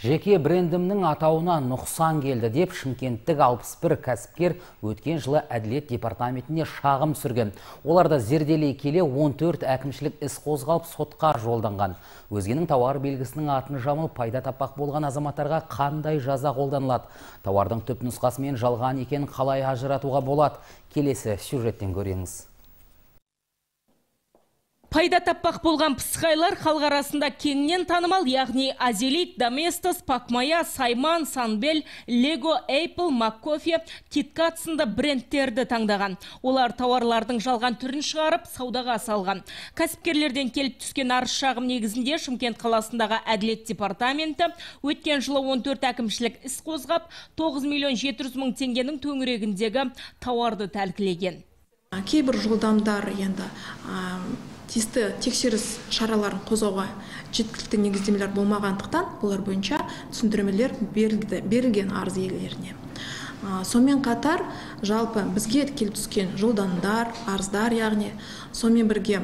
Жеке брендімнің атауына нұқсан келді деп шымкенттік 61 кәсіпкер өткен жылы әділет департаментіне шағым сүрген. Оларды зерделей келе 14 әкімшілік іс қозғалып сотқа жолданған. Өзгенің тауар белгісінің атын жамылып пайда таппақ болған азаматтарға қандай жаза қолданылады? Тауардың түп нұсқасымен жалған екенін қалай ажыратуға болады? Келесі сюжеттен көріңіз. Пайда таппақ болған пысқайлар халық арасында кеңінен танымал, яғни Азелит, Доместос, Пакмая, Сайман, Санбел, Лего, Apple, Маккофе, Киткат сынды брендтерді таңдаған. Олар тауарлардың жалған түрін шығарып, саудаға салған. Кәсіпкерлерден келіп түскен арыз шағым негізінде Шымкент қаласындағы әділет департаменті өткен жылы 14 әкімшілік іс қозғап, 9 миллион 700 мың теңгенің төңірегіндегі тауарды тәркілеген. Кейбір жолдамдар енді тиісті тексеріс шараларын қозғауға жеткілікті негіздемелер болмағандықтан олар бойынша түсіндірмелер берілген арыз иелеріне. Сонымен қатар жалпы бізге келіп түскен жолдамдар, арыздар, яғни сонымен бірге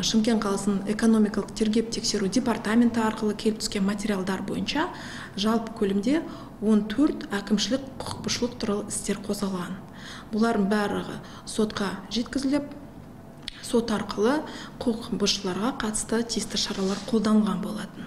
Шымкент қаласының экономикалық тергеп тексеру департаменті арқылы келіп түскен материалдар бойынша жалпы көлемде 14 әкімшілік құқық бұзушылық туралы істер қозғалған. Бұлардың барлығы сотқа жеткізіліп, сот арқылы құқық бұзушыларға қатысты тиісті шаралар қолданған болатын.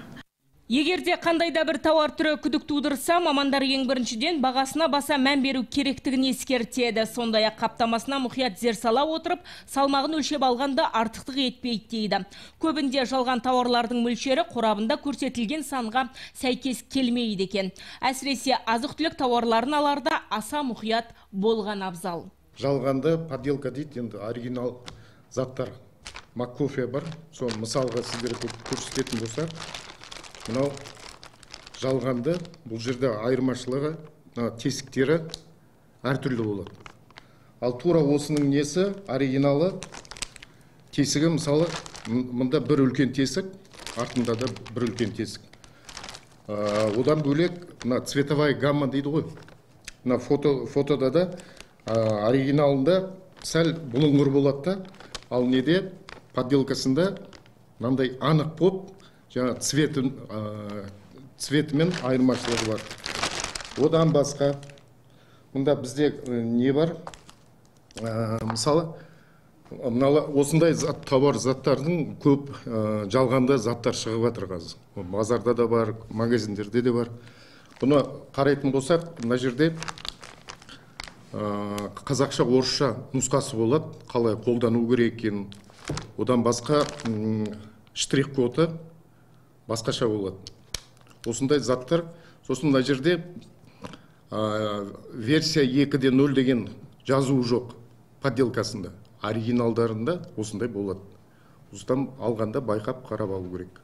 Егерде қандайда бір тауар түрі күдік тудырса, мамандар ең біріншіден бағасына баса мән беру керектігін ескертеді. Сондай-ақ қаптамасына мұқият зер сала отырып, салмағын өлшеп алғанда артықтық етпейді дейді. Көбінде жалған тауарлардың мөлшері қорабында көрсетілген санға сәйкес келмейді екен. Әсіресе азық-түлік тауарларын аларда аса мұқият болған абзал. Жалғанды подделка дейді, енді оригинал заттар. Маккофе бар, соны мысалға сіздерге көрсететін болса, мынау жалғанды, бұл жерде айырмашылығы тесіктері әртүрлі болады. Ал тура осының несі, оригиналы тесігі, мысалы, мұнда бір үлкен тесік, артында да бір үлкен тесік. Одан бөлек, цветовая гамма дейді ғой. Фотода да оригиналында сәл бұлыңғыр болады да, ал неде подделкасында мынандай анық болып, жаңа цветімен айырмашылығы бар. Одан басқа, мұнда бізде не бар? Мысалы, осындай тауар заттардың көп жалғанда заттар шығып жатыр қазір. Базарда да бар, магазиндерде де бар. Бұны қарайтын болсақ, мына жерде қазақша, орысша нұсқасы болады, қалай қолдану керек екенін. Одан басқа штрих-коды басқаша болады. Осындай заттар, сосын мына жерде версия 2.0 деген жазуы жоқ подделкасында. Оригиналдарында осындай болады. Осыдан алғанда байқап қарап алу керек.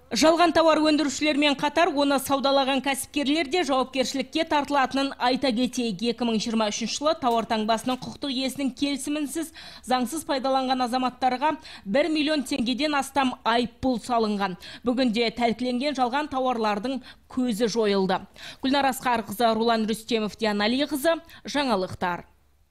Жалған тауар өндірушілермен қатар оны саудалаған кәсіпкерлер де жауапкершілікке тартылатынын айта кетейік. 2023 жылы тауар таңбасының құқықтық иесінің келісімінсіз заңсыз пайдаланған азаматтарға 1 миллион теңгеден астам айыппұл салынған. Бүгінде тәркіленген жалған тауарлардың көзі жойылды. Гүлнар Асқарқызы, Рулан Рүстемов, Диана Алиқызы, жаңалықтар.